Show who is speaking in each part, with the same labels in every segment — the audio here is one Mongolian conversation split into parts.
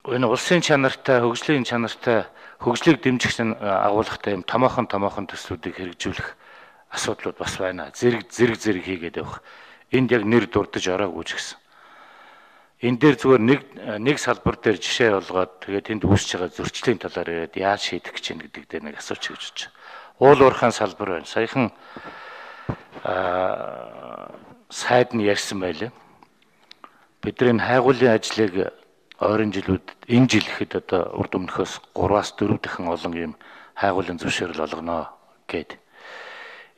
Speaker 1: Энэ улсын чанартай, хөгжлийн чанартай, хөгжлийг дэмжих агуулгатай юм томоохон төслүүдийг хэрэгжүүлэх асуудлууд бас байна. Зэрэг хийгээд явах. Энд яг нэр дурдж ороогүй ч гэсэн. Энэ дээр зүгээр нэг салбар дээр жишээ олгоод тэгээд тэнд үүсэж байгаа зөрчлийн талаар яриад яаж шийдэх гэж байна гэдэг дээр нэг асууж гэж байна. Уул уурхайн салбар байна. Саяхан сайд нь ярьсан байлээ. Бидний хайгуулын ажлыг ойрын жилүүд энэ жил ихэд одоо урд өмнөхөөс 3-аас 4 дахин олон юм хайгуулын зөвшөөрөл олгоно гэд.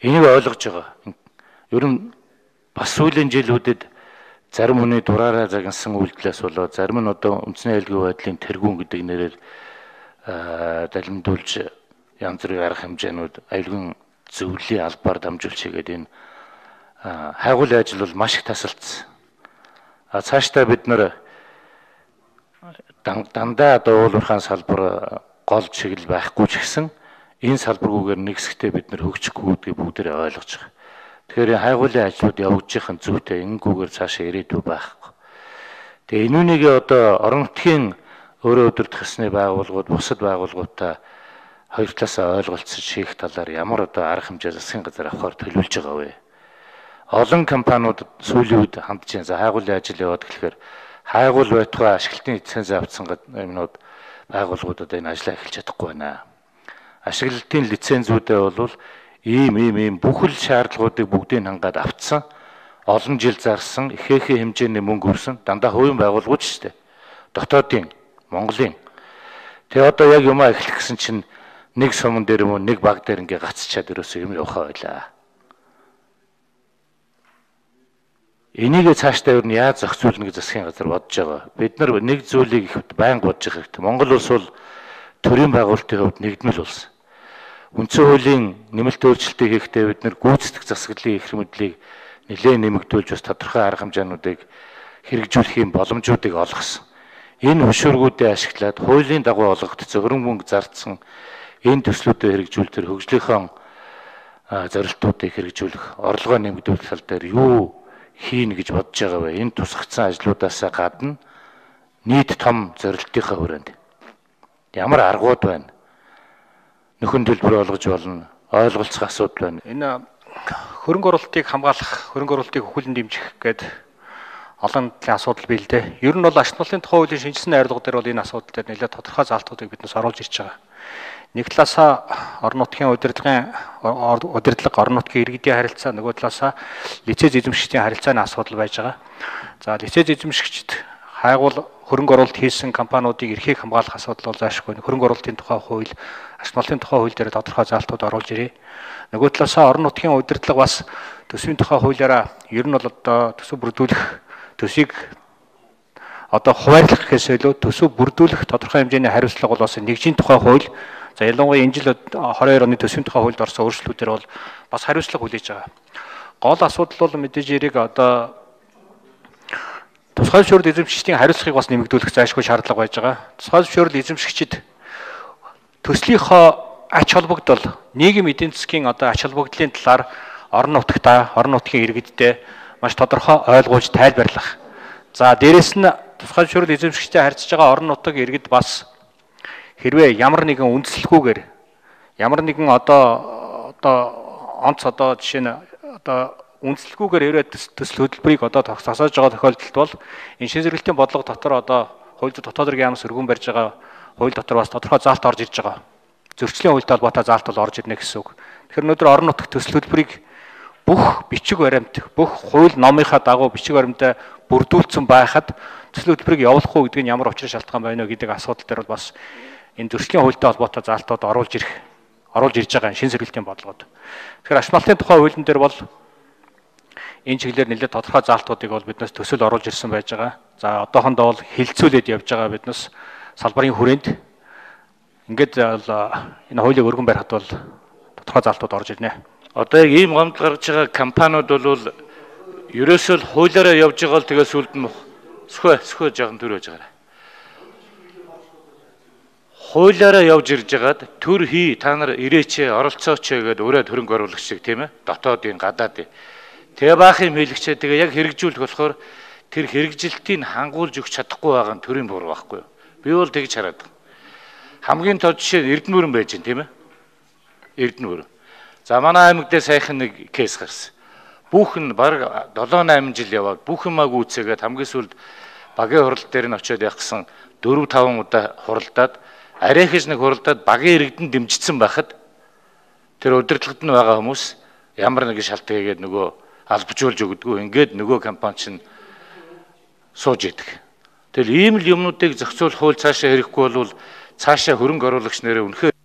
Speaker 1: Энийг ойлгож байгаа. Ер нь бас сүүлийн жилүүдэд зарим хүний дураараа загнасан үйлдэлээс болоод зарим нь одоо үндэсний аюулгүй байдлын тэргүүн гэдэг нэрээр далимдуулж янз бүрийн арга хэмжээнүүд аюулгүй зөвлөлийн албаар дамжуулж хийгээд энэ хайгуулын ажил бол маш их тасалдсан. Цаашдаа бид нар дандаа одоо уул уурхайн салбар гол чиглэл байхгүй ч гэсэн энэ салбаргүйгээр нэг хэсэгтээ бид нар хөгжихгүй гэдгийг бүгдээрээ ойлгож байгаа. Тэгэхээр хайгуулын ажлууд явагдчих нь зүйтэй ингээгүйгээр цаашаа ирээдүй байхгүй. Тэгээ энүүнийг одоо орон нутгийн өөрөө өдөртөх ёсны байгууллагууд бусад байгууллагуудаа хоёр талаасаа ойлголцож хийх талаар ямар одоо арга хэмжээ засгийн газар авахар төлөвлөж байгаа вэ? Олон компаниуд сүүлийн үед хандж байгаа. За хайгуулын ажил яваад гэхээр хайгуул байтугай ашиглалтын лиценз авсан юмнууд байгууллагуудад энэ ажлаа эхэлж чадахгүй байна. Ашиглалтын лицензүүдээ бол ийм бүхэл шаардлагуудыг бүгдийг хангаад авцсан, олон жил зарсан, ихээхэн хэмжээний мөнгө өрсөн, дандаа хувийн байгууллагууд шүү дээ. Дотоодын, Монголын. Тэгээ одоо яг юмаа эхлэх гэсэн чинь нэг суман дээр юм уу, нэг баг дээр ингээ гацчаад ерөөсөө юм явахаа байлаа. Энийг цаашдаа юу яаж зохицуулна гэж засгийн газар бодож байгаа. Бид нар нэг зүйлийг их байнга бодож байгаа хэрэгтэй. Монгол улс бол төрийн байгуулалтын хувьд нэгдмэл улс. Үндсэн хуулийн нэмэлт өөрчлөлтийг хийхдээ бид нар гүйцэтгэх засаглалын эрх мэдлийг нэлээд нэмэгдүүлж бас тодорхой арга хэмжээнүүдийг хэрэгжүүлэхийн боломжуудыг олгосон. Энэ хөшөөргүүдээ ашиглаад хуулийн дагуу олгогдсон хөрөнгө мөнгө зардсан энэ төслүүдэд хэрэгжүүлэх төр хөгжлийнхөө зорилтуудыг хэрэгжүүлэх, орлогоо нэмэгдүүлэх тал дээр юу хийн гэж бодож байгаа вэ? Энэ тусгацсан ажлуудаас гадна нийт том зорилтынхаа хүрээнд ямар аргууд байна? Нөхөн төлбөр олгож болно, ойлголцох асуудал байна.
Speaker 2: Энэ хөрөнгө оруулалтыг хамгаалах, хөрөнгө оруулалтыг хөхүүлэн дэмжих гэдэг олон талын асуудал бий л дээ. Ер нь бол ашигт малын тухай хуулийн шинжилсэн найрлага дээр бол энэ асуудал дээр нэлээд тодорхой заалтуудыг биднээс оруулж ирж байгаа. Нэг талаасаа орон нутгийн удирдлага, орон нутгийн иргэдийн харилцаа, нөгөө талаасаа лиценз эзэмшигчдийн харилцааны асуудал байж байгаа. За лиценз эзэмшигчд хайгуул хөрөнгө оруулалт хийсэн компаниудыг эрхийг хамгаалах асуудал бол заашгүй. Хөрөнгө оруулалтын тухай хууль, ашигт малын тухай хууль дээр тодорхой заалтууд оруулж ирээ. Нөгөө талаасаа орон нутгийн удирдлага бас төсвийн тухай хуулиараа ер нь бол одоо төсөв бүрдүүлэх, төсвийг одоо хуваарлах гэхээс илүү төсөв бүрдүүлэх тодорхой хэмжээний хариуцлага бол бас нэгжийн тухай хууль. За ялангуяа энэ жил 22 оны төсвийн тухай хуульд орсон өөрчлөлтүүдээр бол бас хариуцлага хүлээж байгаа. Гол асуудал бол мэдээж хэрэг одоо тусгай зөвшөөрөл эзэмшигчдийн хариуцлагыг бас нэмэгдүүлэх зайлшгүй шаардлага байж байгаа. Тусгай зөвшөөрөл эзэмшигчид төслийнхөө ач холбогдол, нийгэм эдийн засгийн одоо ач холбогдлын талаар орон нутгийн иргэдтэй маш тодорхой ойлгуулж тайлбарлах. За дээрэс нь тусгай зөвшөөрөл эзэмшигчтэй харьцаж байгаа орон нутгийн иргэд бас хэрвээ ямар нэгэн үндэслэлгүйгээр ямар нэгэн одоо онц одоо жишээ нь одоо үндэслэлгүйгээр төсөл хөтөлбөрийг одоо зогсоож байгаа тохиолдолд бол энэ шин зэрэглэлийн бодлого дотор одоо хууль дотоод хэргийн яамс өргөн барьж байгаа хууль дотор бас тодорхой заалт орж ирж байгаа. Зөрчлийн хуультай холбоотой заалт бол орж ирнэ гэсэн үг. Тэгэхээр өнөөдөр орон нутгийн төсөл хөтөлбөрийг бүх бичиг баримт, бүх хууль номынхаа дагуу бичиг баримтаа бүрдүүлсэн байхад төсөл хөтөлбөрийг явуулах уу гэдэг нь ямар учир шалтгаан байна вэ гэдэг асуудал дээр бол бас энэ зөрчлийн хуультай холбоотой заалтууд оруулж ирж байгаа шин зэрэглэлийн бодлогод. Тэгэхээр ашигт малын тухай хуулийн дээр бол энэ чиглэлээр нэлээд тодорхой заалтуудыг бол биднээс төсөл оруулж ирсэн байж байгаа. За одоохондоо бол хилцүүлээд явж байгаа биднээс салбарын хүрээнд ингээд энэ хуулийг өргөн барихад бол тодорхой заалтууд орж ирнэ.
Speaker 1: Одоо яг ийм гомд гаргаж байгаа компаниуд бол ерөөсөө л хуулиараа явж байгаа л тэгээ сүлд нь сөхөө жоохон төр байж байгаа. Хуулиараа явж ирж байгаад төр хий та нар ирээч оролцооч гэдэг өөрөө хөрөнгө оруулагч шиг тийм ээ дотоодын гадаадын тэгээ баах юм хэлэгчээ тэгээ яг хэрэгжүүлэх болохоор тэр хэрэгжилтийг хангуулж өгч чадахгүй байгаа нь төрийн буруу байхгүй юу. Би бол тэгж хараад байна. Хамгийн тод жишээ нь Эрдэнэбүрэн байж гин тийм ээ. Эрдэнэбүрэн. За манай аймаг дээр сайхан нэг кейс гарсан. Бүхэн баг 7-8 жил яваад бүх юмаа гүйцээгээд хамгийн сүүлд багийн хурал дээр нь очиод явах гэсэн 4-5 удаа хуралдаад арай их нэг хуралдаад багийн иргэдэн дэмжигдсэн байхад тэр удирдлагад нь байгаа хүмүүс ямар нэгэн шалтгаан хийгээд нөгөө албажуулж өгдөггүй. Ингээд нөгөө компани чинь сууж идэг. Тэгэл ийм л юмнуудыг зохицуулах хууль цаашаа хэрэггүй бол цаашаа хөрөнгө оруулагч нэрээ үнэхээр